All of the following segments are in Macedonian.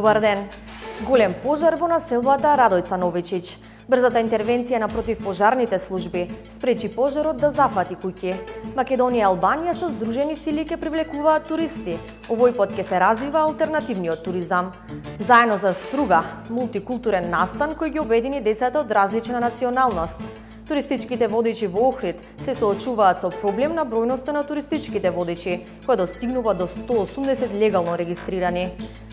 Добар ден. Голем пожар во населбата Радојца Новичич. Брзата интервенција на противпожарните служби спречи пожарот да зафати куќи. Македонија и Албанија со здружени сили ќе привлекуваат туристи. Овој пат ќе се развива алтернативниот туризам. Заедно за Струга, мултикултурен настан кој ги обедини децата од различна националност. Туристичките водичи во Охрид се соочуваат со проблем на бројноста на туристичките водичи, која достигнува до 180 легално регистрирани.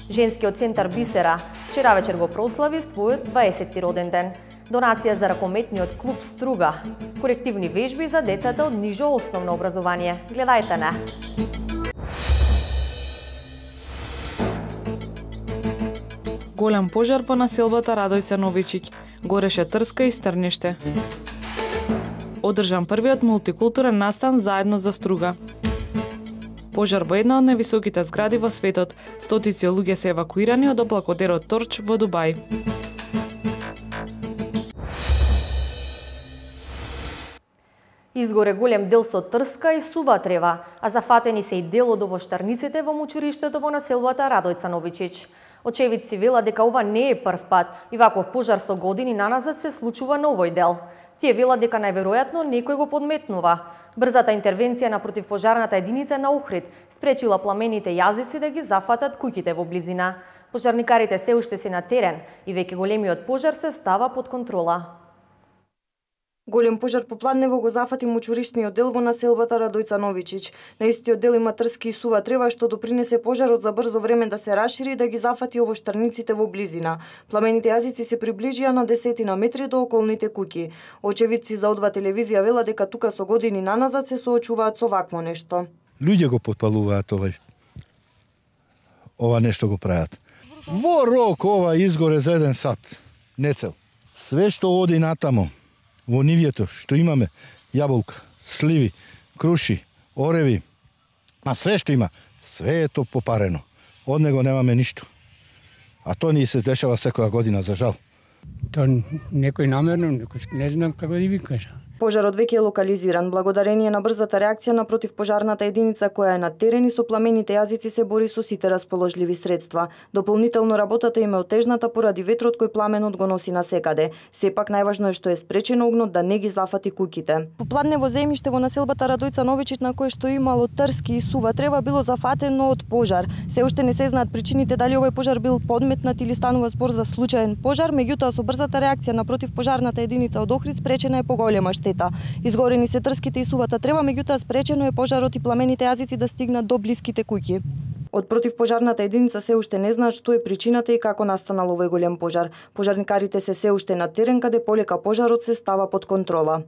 Женскиот центар Бисера вчера вечер го прослави својот 20-ти роден ден. Донација за ракометниот клуб Струга. Корективни вежби за децата од нижо основно образование. Гледајте не. Голем пожар во населбата Радојца Новичич. Гореше трска и стрниште. Одржан првиот мултикултурен настан заедно за Струга. Пожар во една од највисоките згради во светот. Стотици луѓе се евакуирани од облакодерот Торч во Дубај. Изгоре голем дел со трска и сува трева, а зафатени се и дел од овоштарниците во мучуриштето во населбата Радојца Новичич. Очевидци велат дека ова не е прв пат и ваков пожар со години наназад се случува на овој дел. Тие велат дека најверојатно некој го подметнува. Брзата интервенција на противпожарната единица на Охрид спречила пламените јазици да ги зафатат куќите во близина. Пожарникарите се уште се на терен и веќе големиот пожар се става под контрола. Голем пожар попладнево го зафати мучуришниот дел во населбата Радојца Новичич. На истиот дел има трски и сува трева што допринесе пожарот за брзо време да се расшири и да ги зафати овоштарниците во близина. Пламените јазици се приближија на десетина метри до околните куќи. Очевидци за О2 телевизија велат дека тука со години наназад се соочуваат со вакво нешто. Луѓе го подпалуваат ова нешто го прават. Во рок ова изгоре за 1 сат, нецел. Све што оди натамо, во нивјето што имаме, јаболка, сливи, круши, ореви, а све што има, све е то попарено. Од него немаме ништо. А то ни се дешава секоја година, за жал. То некој намерно, некој не знам како да ви кажа. Пожарот веќе е локализиран благодарение на брзата реакција на противпожарната единица која е на терен и со пламените јазици се бори со сите расположливи средства. Дополнително работата им е отежната поради ветрот кој пламенот го носи насекаде. Сепак најважно е што е спречено огнот да не ги зафати куќите. Попладнево земјиште во населбата Радојца Новичич на кое што имало трски и сува трева било зафатено од пожар. Се уште не се знаат причините дали овој пожар бил подметнат или станува збор за случаен пожар, меѓутоа со брзата реакција на противпожарната единица од Охрид спречена е поголема штета. Изгорени се трските и сувата трева, меѓутоа спречено е пожарот и пламените јазици да стигнат до блиските куќи. Од противпожарната единица се уште не знаат што е причината и како настанал овој голем пожар. Пожарникарите се уште на терен каде полека пожарот се става под контрола.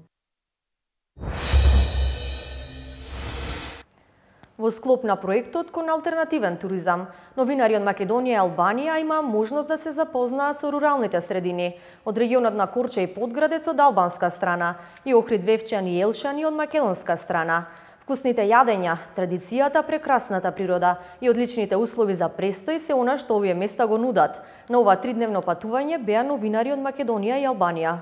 Во склоп на проектот кон алтернативен туризам, новинари од Македонија и Албанија има можност да се запознаат со руралните средини, од регионот на Корча и Подградец од албанска страна и Охрид, Вевчан и Елшани од македонска страна. Вкусните јадења, традицијата, прекрасната природа и одличните услови за престој се она што овие места го нудат. На ова 3-дневно патување беа новинари од Македонија и Албанија.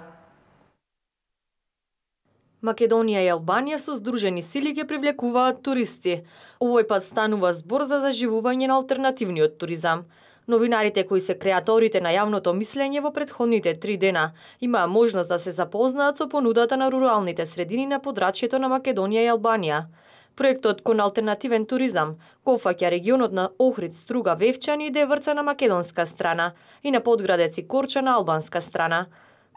Македонија и Албанија со здружени сили ги привлекуваат туристи. Овој пат станува збор за заживување на алтернативниот туризам. Новинарите кои се креаторите на јавното мислење во претходните 3 дена имаа можност да се запознаат со понудата на руралните средини на подрачјето на Македонија и Албанија. Проектот кон алтернативен туризам го опфаќа регионот на Охрид, Струга, Вевчани и Деврца на македонска страна и на Подградец и Корча на албанска страна.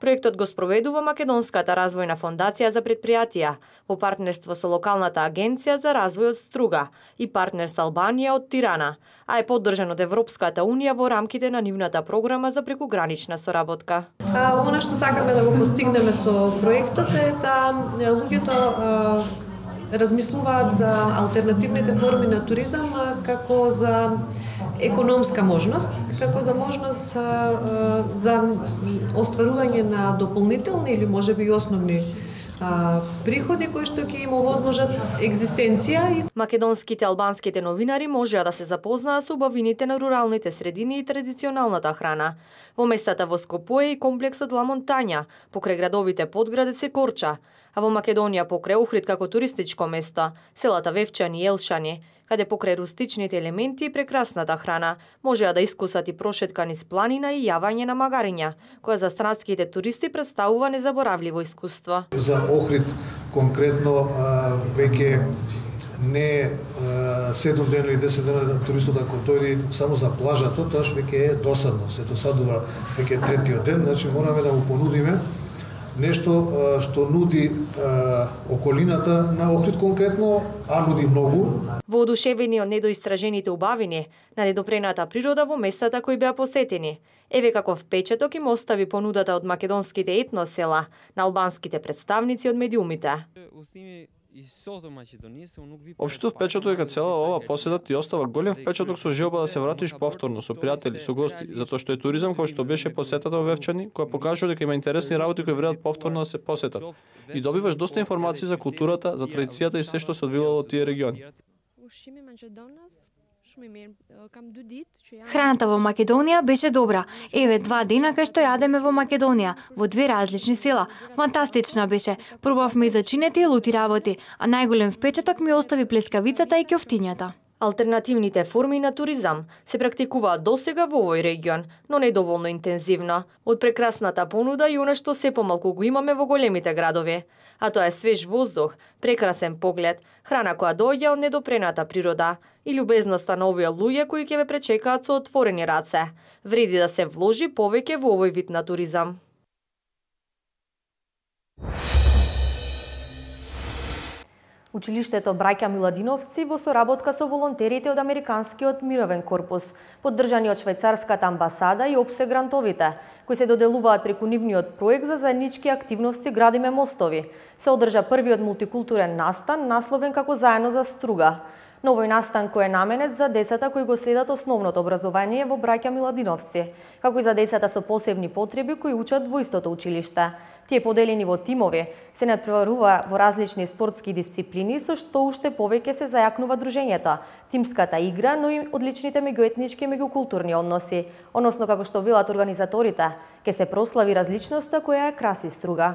Проектот го спроведува Македонската развојна фондација за предпријатија во партнерство со локалната агенција за развој од Струга и партнер со Албанија од Тирана, а е поддржан од Европската унија во рамките на нивната програма за прекугранична соработка. Она што сакаме да го постигнеме со проектот е да луѓето размислуваат за алтернативните форми на туризам како за економска можност, како за можност за остварување на дополнителни или можеби и основни приходи кои што ќе им овозможат екзистенција. Македонските албанските новинари можеа да се запознаат со убавините на руралните средини и традиционалната храна. Во местата во Скопје и комплексот Ла Монтања, покрај градовите Подградец и Корча, а во Македонија покрај Охрид како туристичко место, селата Вевчани и Елшани, каде покрај рустичните елементи и прекрасната храна можеа да искусат и прошетка низ планина и јавање на магариња, која за странските туристи представува незаборавливо искуство. За Охрид конкретно веќе не 7 дена или 10 дена туристот ако дојде само за плажата, тоаш веќе е досадно. Се досадува веќе третиот ден, значи мораме да му понудиме нешто што нуди околината на Охрид конкретно, а нуди многу. Воодушевени од недоистражените убавини на недопрената природа во местата кои беа посетени, еве каков впечаток им остави понудата од македонските етносела на албанските представници од медиумите. Општото впечаток е дека цела ова посета ти остава голем впечаток со желба да се вратиш повторно со пријатели, со гости, затоа што е туризам кој што беше посетата во Вевчани, која покажува дека има интересни работи кои вредат повторно да се посетат. И добиваш доста информации за културата, за традицијата и се што се одвивало од тие региони. Храната во Македонија беше добра. Еве 2 дена кај што јадеме во Македонија, во 2 различни села. Фантастична беше. Пробавме и зачинети и лути работи, а најголем впечаток ми остави плескавицата и ќофтињата. Алтернативните форми на туризам се практикуваат досега во овој регион, но не доволно интензивно. Од прекрасната понуда и она што се помалку го имаме во големите градови. А тоа е свеж воздух, прекрасен поглед, храна која доаѓа од недопрената природа и љубезноста на овие луѓе кои ќе ве пречекаат со отворени раце. Вреди да се вложи повеќе во овој вид на туризам. Училиштето Браќа Миладиновци во соработка со волонтерите од Американскиот мировен корпус, поддржани од швајцарската амбасада и ОПСЕ грантовите, кои се доделуваат преку нивниот проект за заеднички активности Градиме мостови, се одржа првиот мултикултурен настан насловен како Заедно за струга. Но овој настан кој е наменет за децата кои го следат основното образование во Браќа Миладиновци, како и за децата со посебни потреби кои учат во истото училиште. Тие поделени во тимови се надпреварува во различни спортски дисциплини со што уште повеќе се зајакнува дружењето, тимската игра, но и одличните меѓуетнички и меѓукултурни односи, односно како што велат организаторите, ќе се прослави различноста која ја краси Струга.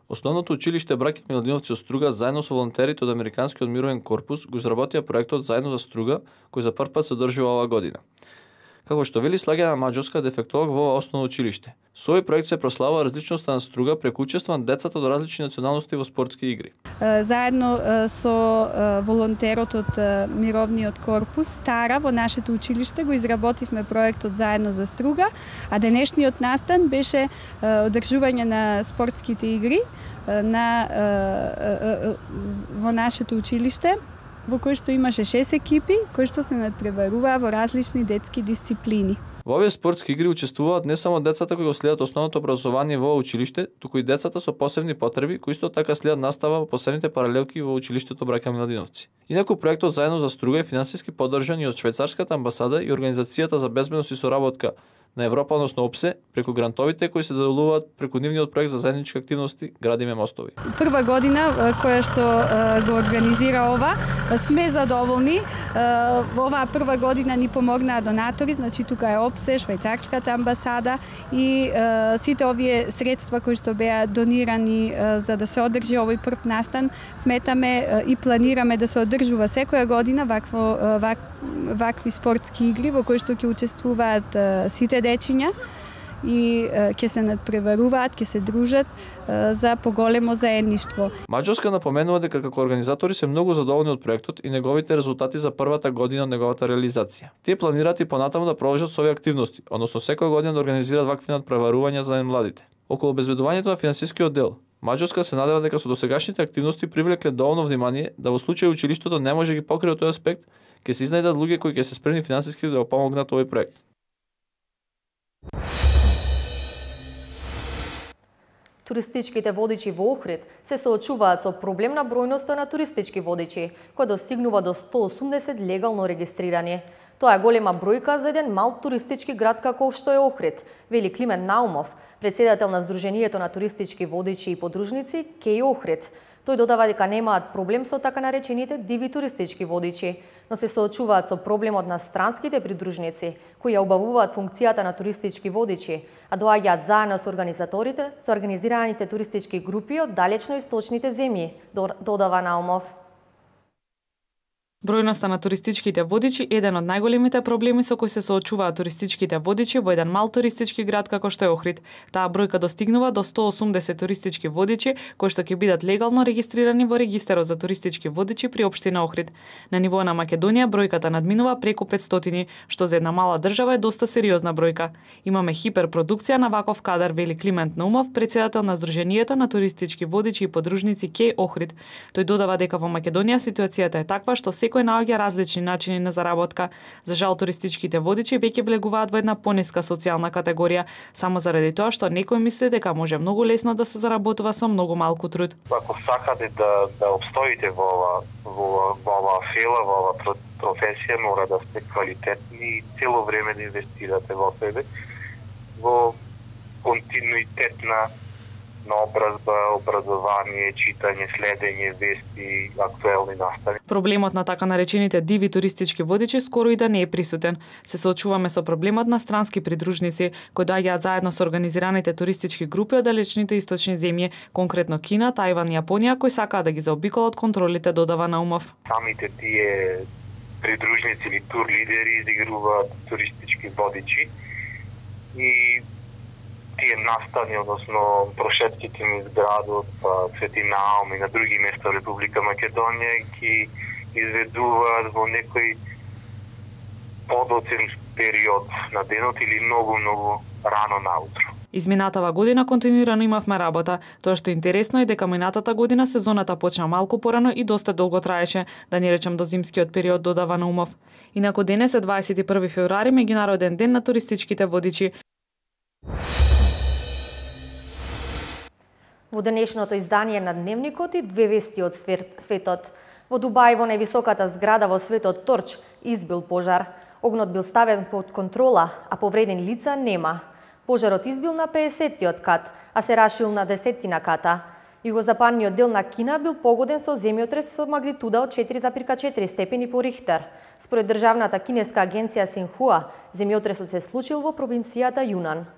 Основното училиште Браќа Миладиновци од Струга заедно со волонтерите од Американскиот мировен корпус го изработија проектот Заедно за Струга, кој за прв пат се одржува оваа година. Како што вели Слаѓана Маџовска, дефектолог во ова основно училиште. Со овој проект се прославува различноста на Струга преку учество на децата до различни националности во спортски игри. Заедно со волонтерот од Мировниот корпус Тара во нашето училиште го изработивме проектот Заедно за Струга, а денешниот настан беше одржување на спортските игри во нашето училиште, во кој што имаше 6 екипи, кои што се надпреваруваа во различни детски дисциплини. Во овие спортски игри учествуваат не само децата кои го следат основното образование во училиште, туку и децата со посебни потреби кои исто така следат настава во посебните паралелки во училиштето Браќа Миладиновци. Инаку проектот Заедно за Струга е финансиски поддржан и од швајцарската амбасада и Организацијата за безбедност и соработка на Европа, односно ОПСЕ, преку грантовите кои се доделуваат преку нивниот проект за заеднички активности Градиме мостови. Прва година која што го организира ова, сме задоволни. Во оваа прва година ни помогнаа донатори, значи тука е ОПСЕ, швајцарската амбасада и сите овие средства кои што беа донирани за да се одржи овој прв настан, сметаме и планираме да се одржува секоја година вакви спортски игри во кои што ќе учествуваат сите дечиња и ќе се надпреваруваат, ќе се дружат за поголемо заедништво. Маđовска напоменува дека како организатори се многу задоволни од проектот и неговите резултати за првата година од неговата реализација. Тие планираат и понатаму да продолжат со овие активности, односно секоја година да организираат вакви надпреварувања за најмладите. Околу обезбедувањето на финансискиот дел, Маđовска се надева дека со досегашните активности привлекле доволно внимание да во случај училиштето не може ги покрие тој аспект, ќе се изнајдат луѓе кои ќе се спремни финансиски да го помогнат овој проект. Туристичките водичи во Охрид се соочуваат со проблем на бројноста на туристички водичи, која достигнува до 180 легално регистрирани. Тоа е голема бројка за еден мал туристички град како што е Охрид, вели Климент Наумов, председател на Сдруженијето на туристички водичи и подружници Кеј Охрид. Тој додава дека немаат проблем со така наречените диви туристички водичи, но се соочуваат со проблемот на странските придружници, кои ја убавуваат функцијата на туристички водичи, а доаѓаат заедно со организаторите, со организираните туристички групи од далечно источните земји, додава Наумов. Бројноста на туристичките водичи е еден од најголемите проблеми со кои се соочуваат туристичките водичи во еден мал туристички град како што е Охрид. Таа бројка достигнува до 180 туристички водичи кои што ќе бидат легално регистрирани во регистарот за туристички водичи при општина Охрид. На ниво на Македонија бројката надминува преку 500, што за една мала држава е доста сериозна бројка. Имаме хиперпродукција на ваков кадар, вели Климент Наумов, председател на Сдруженијето на туристички водичи и подружници КЕ Охрид. Тој додава дека во Македонија ситуацијата е таква што секој наоѓа различни начини на заработка. За жал туристичките водичи веќе влегуваат во една пониска социјална категорија, само заради тоа што некој мисли дека може многу лесно да се заработува со многу малку труд. Ако сакате да обстоите во оваа фела, во оваа професија, мора да сте квалитетни и цело време да инвестирате во себе, во континуитетна наобразба, образование, читање, следење, вести, актуелни настави. Проблемот на така наречените диви туристички водичи скоро и да не е присутен. Се соочуваме со проблемот на странски придружници кои доаѓаат заедно со организираните туристички групи од далечните источни земји, конкретно Кина, Тајван и Јапонија, кои сакаат да ги заобиколат контролите, додава Наумов. Самите тие придружници или тур лидери изигруваат туристички водичи и тие настани, односно прошетките низ градот, Свети Наум и на други места во Република Македонија ги изведуваат во некој подоцен период на денот или многу рано наутро. Изминатава година континуирано имавме работа. Тоа што е интересно е дека минатата година сезоната почна малку порано и доста долго траеше, да не речем до зимскиот период, додава Наумов. Инаку денес е 21 февруари, меѓународен ден на туристичките водичи. Во денешното издание на Дневникот и две вести од светот. Во Дубај, во највисоката зграда во светот Торч, избил пожар. Огнот бил ставен под контрола, а повредени лица нема. Пожарот избил на 50-тиот кат, а се рашил на 10-тина ката. Југозападниот дел на Кина бил погоден со земјотрес со магнитуда од 4,4 степени по Рихтер. Според државната кинеска агенција Синхуа, земјотресот се случил во провинцијата Јунан.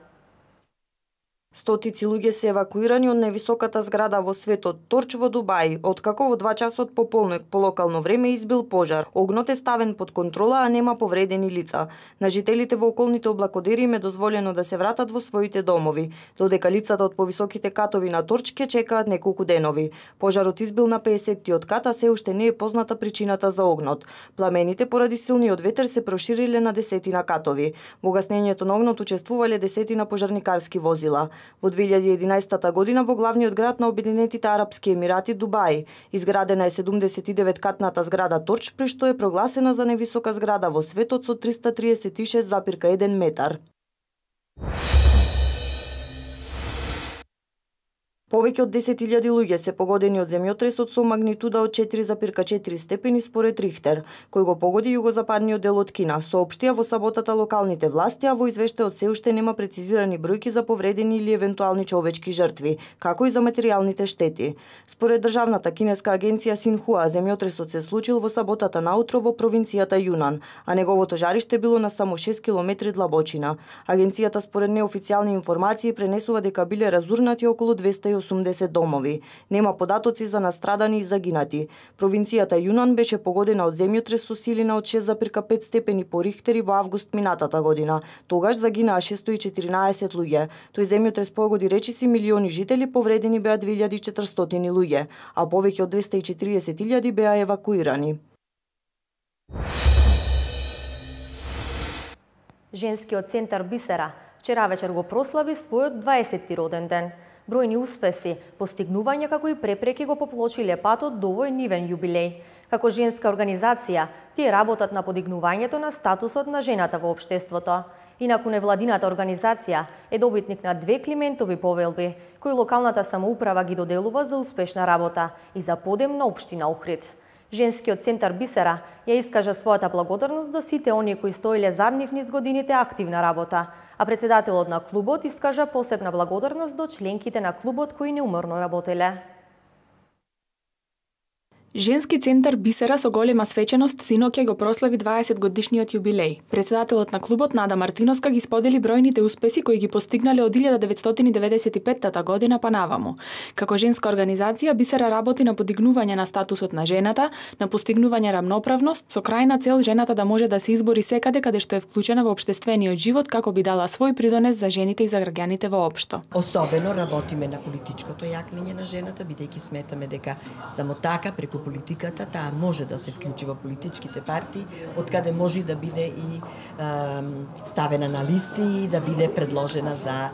Стотици луѓе се евакуирани од највисоката зграда во светот Торч во Дубај, откако во 2 часот по полнок по локално време избил пожар. Огнот е ставен под контрола, а нема повредени лица. На жителите во околните облакодери им е дозволено да се вратат во своите домови, додека лицата од повисоките катови на Торч ќе чекаат неколку денови. Пожарот избил на 50-тиот кат, а се уште не е позната причината за огнот. Пламените поради силниот ветер се прошириле на 10 катови. Во гаснењето на огнот учествувале 10 пожарникарски возила. Во 2011 година во главниот град на Обединетите Арапски Емирати, Дубај, изградена е 79-катната зграда Торч, при што е прогласена за највисока зграда во светот со 336,1 метар. Повеќе од 10.000 луѓе се погодени од земјотресот со магнитуда од 4,4 степени според Рихтер, кој го погоди југозападниот дел од Кина, соопштија во саботата локалните власти, а во извештајот се уште нема прецизирани бројки за повредени или евентуални човечки жртви, како и за материјалните штети. Според државната кинеска агенција Синхуа, земјотресот се случил во саботата наутро во провинцијата Јунан, а неговото жариште било на само 6 километри длабочина. Агенцијата според неофицијални информации пренесува дека биле разурнати околу 280 домови. Нема податоци за настрадани и загинати. Провинцијата Јунан беше погодена од земјотрес со силина од 6,5 степени по Рихтер во август минатата година. Тогаш загинаа 614 луѓе. Тој земјотрес погоди речиси милиони жители, повредени беа 2400 луѓе, а повеќе од 240.000 беа евакуирани. Женскиот центар Бисера вчера вечер го прослави својот 20-ти роден ден. Бројни успеси, постигнувања како и препреки го поплочиле патот до овој нивен јубилеј. Како женска организација, тие работат на подигнувањето на статусот на жената во општеството. Инаку невладината организација е добитник на 2 Климентови повелби, кои локалната самоуправа ги доделува за успешна работа и за подем на општина Охрид. Женскиот центар Бисера ја искажа својата благодарност до сите оние кои стоиле зад нив низ годините активна работа, а председателот на клубот искажа посебна благодарност до членките на клубот кои неуморно работеле. Женски центар Бисера со голема свеченост синоќа го прослави 20 годишниот јубилеј. Председателот на клубот Нада Мартиновска ги сподели бројните успеси кои ги постигнале од 1995 година па наваму. Како женска организација Бисера работи на подигнување на статусот на жената, на постигнување рамноправност со крајна цел жената да може да се избори секаде каде што е вклучена во општествениот живот како би дала свој придонес за жените и за граѓаните воопшто. Особено работиме на политичкото јакнење на жената, бидејќи сметаме дека само така преку политиката таа може да се вклучи во политичките партии, откаде може да биде и ставена на листи, да биде предложена за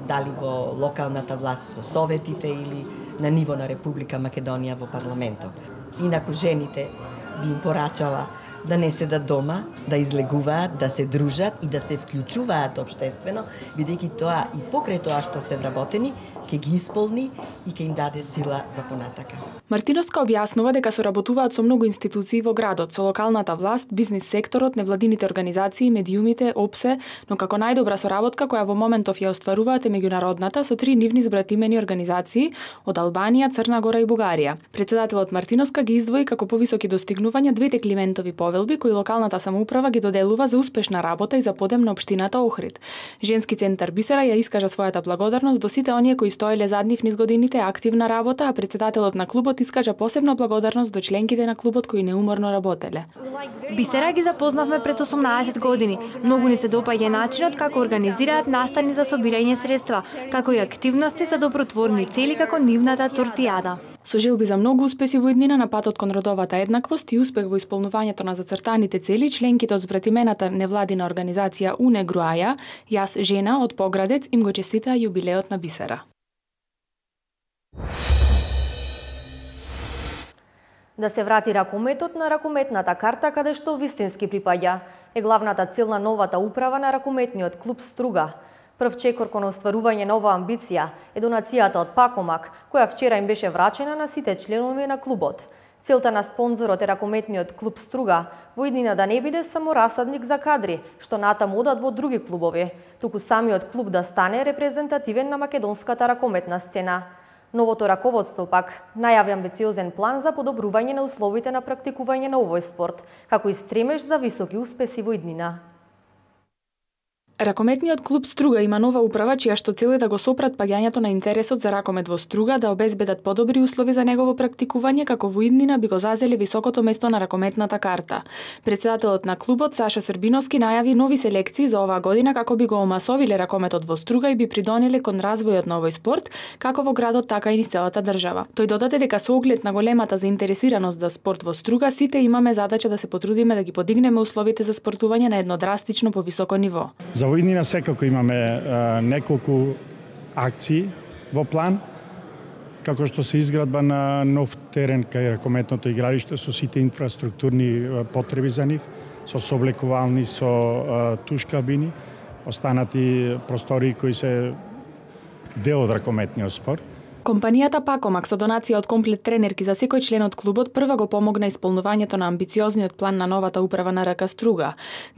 дали во локалната власт, во советите или на ниво на Република Македонија во парламентот. Инаку жените би им порачала да не седат дома, да излегуваат, да се дружат и да се вклучуваат општествено, бидејќи тоа и покрај тоа што се вработени, ќе ги исполни и ќе им даде сила за понатака. Мартиновска објаснува дека соработуваат со многу институции во градот, со локалната власт, бизнис секторот, невладините организации, медиумите, ОПСЕ, но како најдобра соработка која во моментов ја остваруваат е меѓународната со 3 нивни збратимени организации од Албанија, Црна Гора и Бугарија. Председателот Мартиновска ги издвои како повисоки достигнувања двете Климентови повелби кои локалната самоуправа ги доделува за успешна работа и за подем на општината Охрид. Женски центар Бисера ја искажа својата благодарност до сите оние кои стоеле зад нив низ годините активна работа, а председателот на клубот искажа посебна благодарност до членките на клубот кои неуморно работеле. Бисера ги запознавме пред 18 години. Многу ни се допаѓа начинот како организираат настани за собирање средства, како и активности за добротворни цели како нивната тортијада. Со желби за многу успеси во иднина на патот кон родовата еднаквост и успех во исполнувањето на зацртаните цели, членките од збратимената невладина организација УНЕ Груаја, Јас жена од Поградец им го честитаа јубилеот на Бисера. Да се врати ракометот на ракометната карта каде што вистински припаѓа е главната цел на новата управа на ракометниот клуб Струга. Прв чекор кон остварување на оваа амбиција е донацијата од Пакомак, која вчера им беше врачена на сите членови на клубот. Целта на спонзорот е ракометниот клуб Струга во иднина да не биде само расадник за кадри, што натаму одат во други клубови, туку самиот клуб да стане репрезентативен на македонската ракометна сцена. Новото раководство пак најави амбициозен план за подобрување на условите на практикување на овој спорт, како и стремеж за високи успеси во иднина. Ракометниот клуб Струга има нова управа чија што цел е да го сопрат паѓањето на интересот за ракомет во Струга, да обезбедат подобри услови за негово практикување, како во иднина би го зазеле високото место на ракометната карта. Председателот на клубот Сашо Србиновски најави нови селекции за оваа година како би го омасовиле ракометот во Струга и би придонеле кон развојот на овој спорт, како во градот така и низ целата држава. Тој додаде дека со оглед на големата заинтересираност за спорт во Струга, сите имаме задача да се потрудиме да ги подигнеме условите за спортување на едно драстично повисоко ниво. Во иднина секако имаме неколку акции во план, како што се изградба на нов терен кај ракометното игралиште со сите инфраструктурни потреби за нив, со соблекувални, со туш-кабини, останати простори кои се дел од ракометниот спорт. Компанијата Пакомак со донација од комплет тренерки за секој член од клубот прва го помогна исполнувањето на амбициозниот план на новата управа на РК Струга.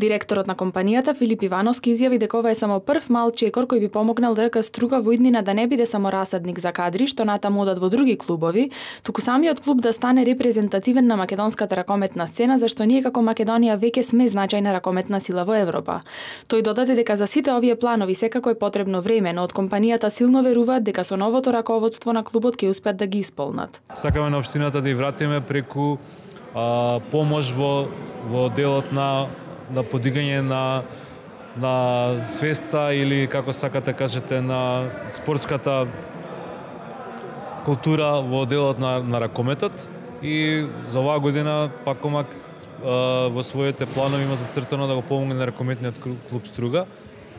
Директорот на компанијата Филип Ивановски изјави дека ова е само прв мал чекор кој би помогнал РК Струга во иднина да не биде само расадник за кадри што натаму одат во други клубови, туку самиот клуб да стане репрезентативен на македонската ракометна сцена, зашто ние како Македонија веќе сме значајна ракометна сила во Европа. Тој додаде дека за сите овие планови секако е потребно време, но од компанијата силно веруваат дека со новото раководство на клубот ќе успеат да ги исполнат. Сакаме на општината да ја вратиме преку помош во делот на подигање на свеста или како сакате кажете на спортската култура во делот на ракометот и за оваа година Пакомак во своите планови има зацртано да го помогне на ракометниот клуб Струга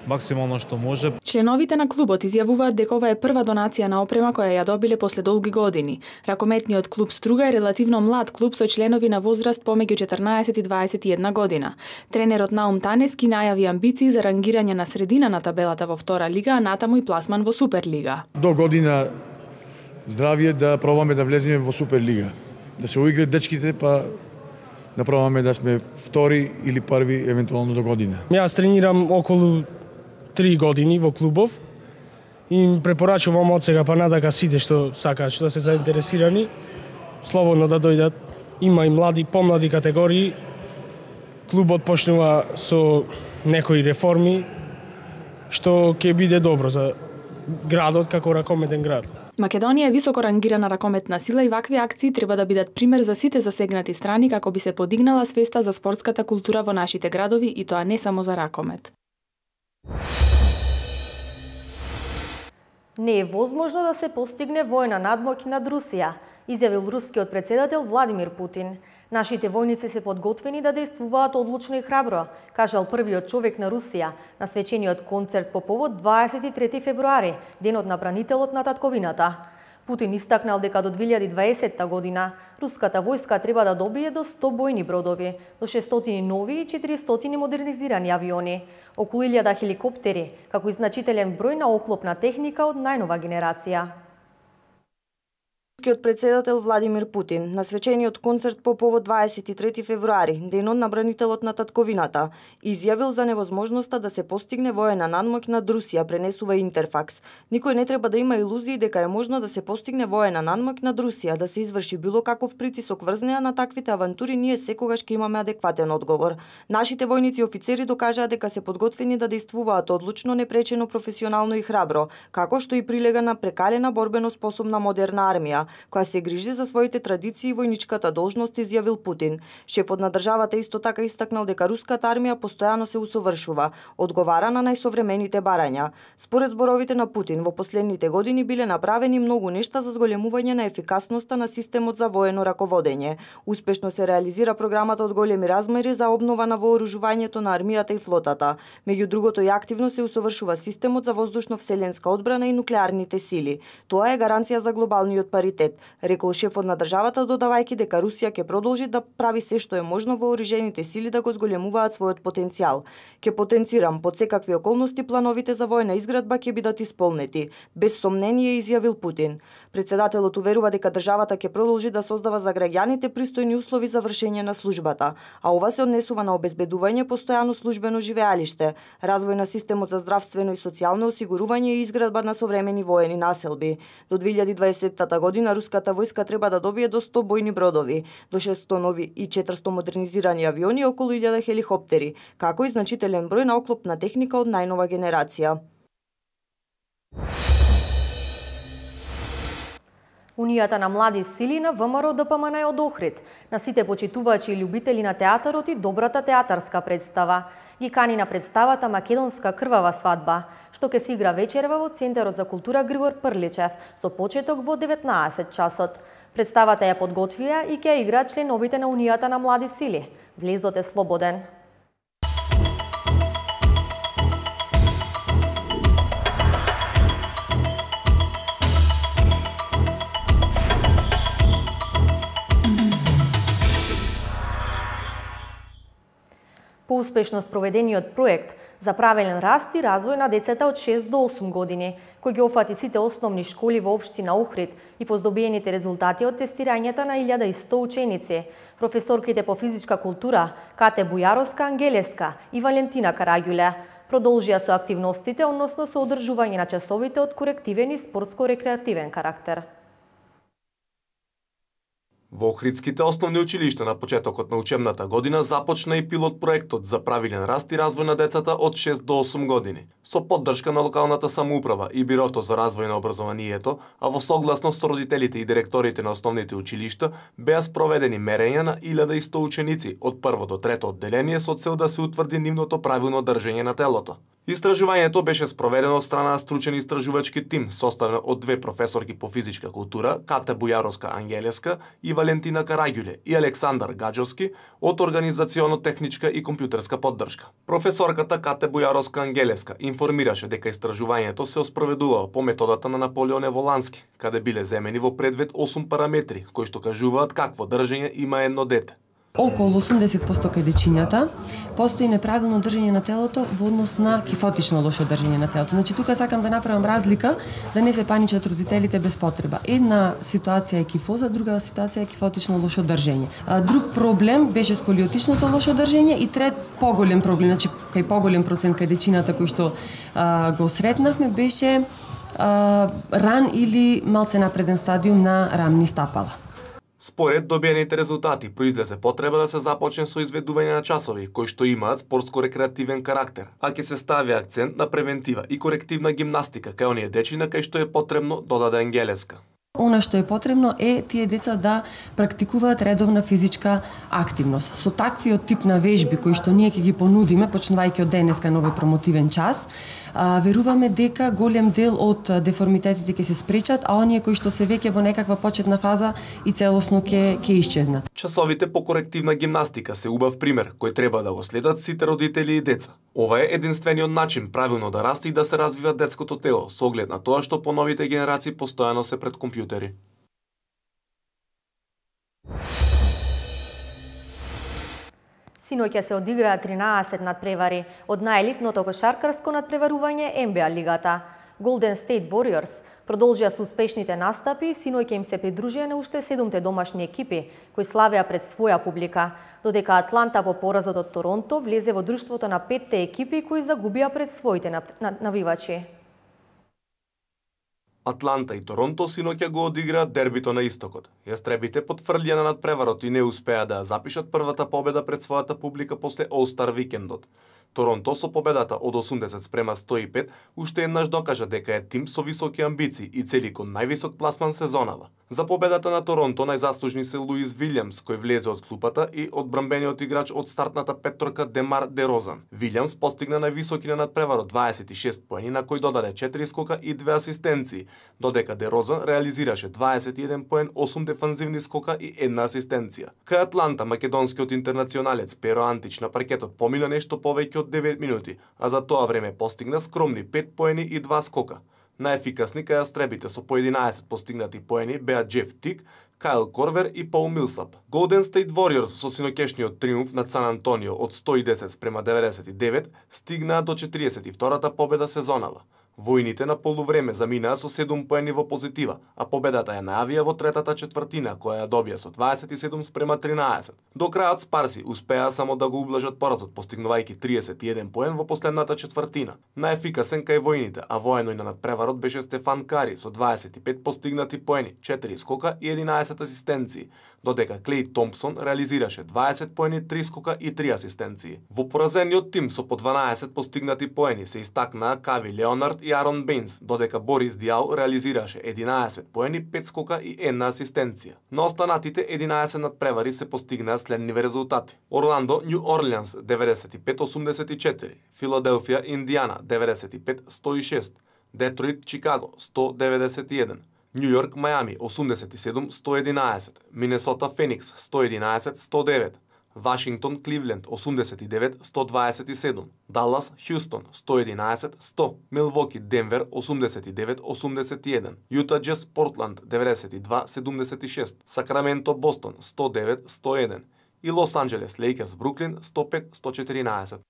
максимално што може. Членовите на клубот изјавуваат дека ова е прва донација на опрема која ја добиле после долги години. Ракометниот клуб Струга е релативно млад клуб со членови на возраст помеѓу 14 и 21 година. Тренерот Наум Танески најави амбиции за рангирање на средина на табелата во втора лига, а натаму и пласман во Суперлига. До година здравје да пробаме да влеземе во Суперлига. Да се уиграат дечките, па да пробаме да сме втори или први евентуално до година. Јас тренирам околу 3 години во клубов и им препорачувам од сега па надека сите што сакаат, што се заинтересирани, слободно да дојдат има и млади, помлади категории. Клубот почнува со некои реформи, што ќе биде добро за градот како ракометен град. Македонија е високо рангирана ракометна сила и вакви акции треба да бидат пример за сите засегнати страни како би се подигнала свеста за спортската култура во нашите градови и тоа не само за ракомет. Не е возможно да се постигне војна надмоќ над Русија, изјавил рускиот претседател Владимир Путин. Нашите војници се подготвени да действуваат одлучно и храбро, кажал првиот човек на Русија на свечениот концерт по повод 23 февруари, денот на бранителот на татковината. Путин истакнал дека до 2020 година руската војска треба да добие до 100 бојни бродови, до 600 нови и 400 модернизирани авиони, околу 1000 хеликоптери, како и значителен број на оклопна техника од најнова генерација. Рускиот претседател Владимир Путин на свечениот концерт по повод 23 февруари, денот на бранителот на татковината, изјавил за невозможноста да се постигне воена надмоќ над Русија, пренесува Интерфакс. Никој не треба да има илузии дека е можно да се постигне воена надмоќ над Русија, да се изврши било каков притисок врз неа. На таквите авантури ние секогаш ќе имаме адекватен одговор. Нашите војници и офицери докажаа дека се подготвени да действуваат одлучно, непречено, професионално и храбро, како што и прилега на прекалена борбено способна модерна армија, која се грижи за своите традиции и војничката должност, изјавил Путин. Шефот на државата исто така истакнал дека руската армија постојано се усовршува, одговара на најсовремените барања. Според зборовите на Путин, во последните години биле направени многу нешта за зголемување на ефикасноста на системот за воено раководење. Успешно се реализира програмата од големи размери за обнова на вооружувањето на армијата и флотата. Меѓу другото и активно се усовршува системот за воздушно-вселенска одбрана и нуклеарните сили. Тоа е гаранција за глобалниот паритет, рекол шефот на државата, додавајќи дека Русија ќе продолжи да прави се што е можно вооружените сили да го зголемуваат својот потенцијал. Ќе потенцирам под секакви околности плановите за војна изградба ќе бидат исполнети, без сомнение, изјавил Путин. Председателот уверува дека државата ќе продолжи да создава за граѓаните пристојни услови за вршење на службата, а ова се однесува на обезбедување постојано службено живеалиште, развој на системот за здравствено и социјално осигурување и изградба на современи воени населби. До 2020 година руската војска треба да добие до 100 бојни бродови, до 600 нови и 400 модернизирани авиони, околу 1000 хеликоптери, како и значителен број на оклопна техника од најнова генерација. Унијата на млади сили на ВМРО ДПМН е од Охрид, на сите почитувачи и љубители на театарот и добрата театарска представа. Ги кани на представата Македонска крвава свадба, што ќе се игра вечерва во Центарот за култура Григор Прличев, со почеток во 19 часот. Представата ја подготвија и ќе игра членовите на Унијата на млади сили. Влезот е слободен. По успешно спроведениот проект за правилен раст и развој на децата од 6 до 8 години, кој ги офати сите основни школи во општина Охрид и по здобиените резултати од тестирањата на 1100 ученици, професорките по физичка култура Кате Бујаровска Ангелеска и Валентина Караѓуле продолжија со активностите, односно со одржување на часовите од корективен и спортско-рекреативен карактер. Во Охридските основни училишта на почетокот на учебната година започна и пилот проектот за правилен раст и развој на децата од 6 до 8 години, со поддршка на локалната самоуправа и Бирото за развој на образованието, а во согласност со родителите и директорите на основните училишта, беа спроведени мерења на 1100 ученици од прво до трето одделение со цел да се утврди нивното правилно држење на телото. Истражувањето беше спроведено од страна на стручен истражувачки тим, составен од две професорки по физичка култура, Кате Бујаровска Ангелеска и Валентина Караѓуле, и Александар Гаджовски од организационо-техничка и компјутерска поддршка. Професорката Кате Бујаровска Ангелеска информираше дека истражувањето се спроведувало по методата на Наполеон Волански, каде биле земени во предвид 8 параметри, кои што кажуваат какво држење има едно дете. Околу 80% кај дечињата постои неправилно држење на телото во однос на кифотично лошо држење на телото. Значи тука сакам да направам разлика, да не се паничат родителите без потреба. Една ситуација е кифоза, друга ситуација е кифотично лошо држење. Друг проблем беше сколиотичното лошо држење и трет поголем проблем, значи кај поголем процент кај дечината кој што го сретнавме беше ран или малце напреден стадиум на рамни стапала. Според добиените резултати произлезе потреба да се започне со изведување на часови кои што имаат спортско-рекреативен карактер, а ќе се стави акцент на превентива и корективна гимнастика кај оние дечиња кај што е потребно, додаде Ангелеска. Она што е потребно е тие деца да практикуваат редовна физичка активност. Со таквиот тип на вежби кои што ние ќе ги понудиме, почнувајќи од денеска на овој промотивен час, веруваме дека голем дел од деформитетите ќе се спречат, а оние кои што се веќе во некаква почетна фаза и целосно ќе исчезнат. Часовите по корективна гимнастика се убав пример кој треба да го следат сите родители и деца. Ова е единствениот начин правилно да расте и да се развива детското тело, со оглед на тоа што по новите генерации постојано се пред компјутери. Синоќа се одиграа 13 надпревари од наелитното кошаркарско надпреварување НБА лигата. Golden State Warriors продолжија со успешните настапи и синоќа им се придружија на уште 7 домашни екипи кои славеа пред своја публика, додека Атланта по поразот од Торонто влезе во друштвото на 5 екипи кои загубија пред своите навивачи. Атланта и Торонто синоќа го одиграат дербито на истокот. Јастребите потврдија на надпреварот и не успеа да запишат првата победа пред својата публика после All-Star викендот. Торонто со победата од 80-105 уште еднаш докажа дека е тим со високи амбиции и цели кон највисок пласман сезонава. За победата на Торонто најзаслужни се Луис Вилјамс, кој влезе од клупата, и одбранбениот играч од стартната петторка Демар Дерозан. Вилјамс постигна највисоки на надпреварот 26 поени, на кој додаде 4 скока и 2 асистенции, додека Дерозан реализираше 21 поен, 8 дефанзивни скока и 1 асистенција. Кај Атланта македонскиот интернационалец Перо Антич на паркетот помина нешто повеќе од 9 минути, а за тоа време постигна скромни 5 поени и 2 скока. Најефикасни кај јастребите со по 11 постигнати поени беа Джеф Тик, Кайл Корвер и Пол Милсап. Golden State Warriors со синоќешниот триумф над Сан Антонио од 110-99 стигнаа до 42-та победа сезонава. Војните на полувреме заминаа со 7 поени во позитива, а победата ја најавија во третата четвртина, која ја добија со 27-13. До крајот Спарси успеа само да го ублажат поразот, постигнувајќи 31 поен во последната четвртина. Најефикасен кај војните, а воено и на надпреварот беше Стефан Кари со 25 постигнати поени, 4 скока и 11 асистенции, додека Клей Томпсон реализираше 20 поени, 3 скока и 3 асистенции. Во поразениот тим со по 12 постигнати поени се истакнаа Кави Леонард и Арон Бейнс, додека Борис Диал реализираше 11 поени, 5 скока и 1 асистенција. На останатите 11 надпревари се постигнаа следниве резултати. Орландо Нью Орлеанс 95-84, Филаделфија Индијана 95-106, Детройт Чикаго 191, Нью Йорк Мајами 87-111, Минесота Феникс 111-109, Вашингтон Кливленд 89-127, Даллас Хјустон 111-100, Милвоки Денвер 89-81, Јута Джез Портланд 92-76, Сакраменто Бостон 109-101 и Лос Анџелес Лейкерс Бруклин 105-114.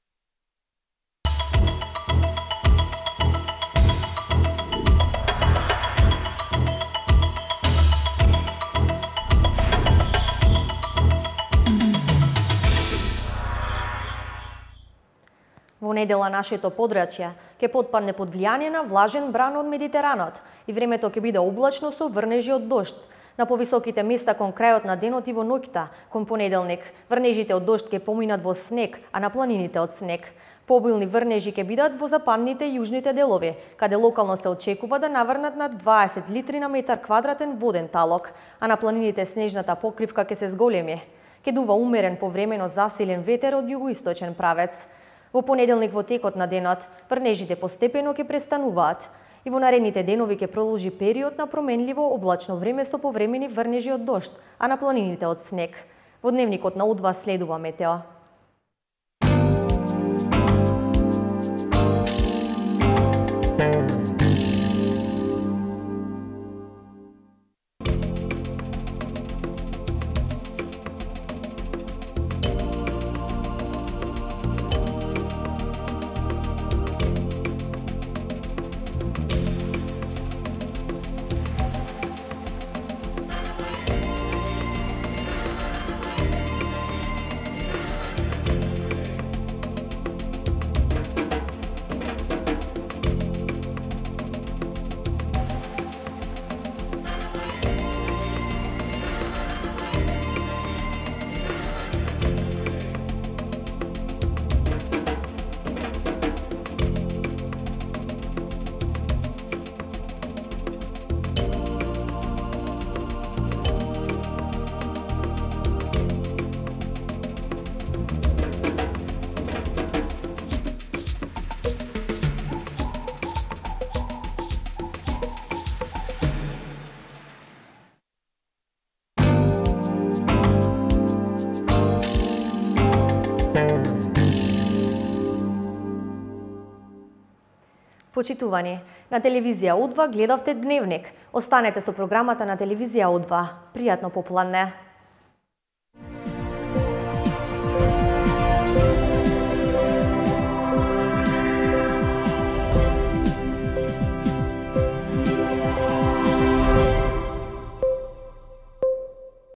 Во недела нашето подрачје ќе потпадне под влијание на влажен бран од Медитеранот и времето ќе биде облачно со врнежи од дожд. На повисоките места кон крајот на денот и во ноќта, кон понеделник, врнежите од дожд ќе поминат во снег, а на планините од снег. Пообилни врнежи ќе бидат во западните и јужните делови, каде локално се очекува да наврнат над 20 литри на метар квадратен воден талок, а на планините снежната покривка ќе се зголеми. Ќе дува умерен повремено засилен ветер од југоисточен правец. Во понеделник во текот на денот, врнежите постепено ќе престануваат и во наредните денови ќе продолжи период на променливо облачно време со повремени врнежи од дожд, а на планините од снег. Во дневникот на УДВА следува метео. Почитувани, на телевизија О2 гледавте Дневник. Останете со програмата на телевизија О2. Пријатно попладне.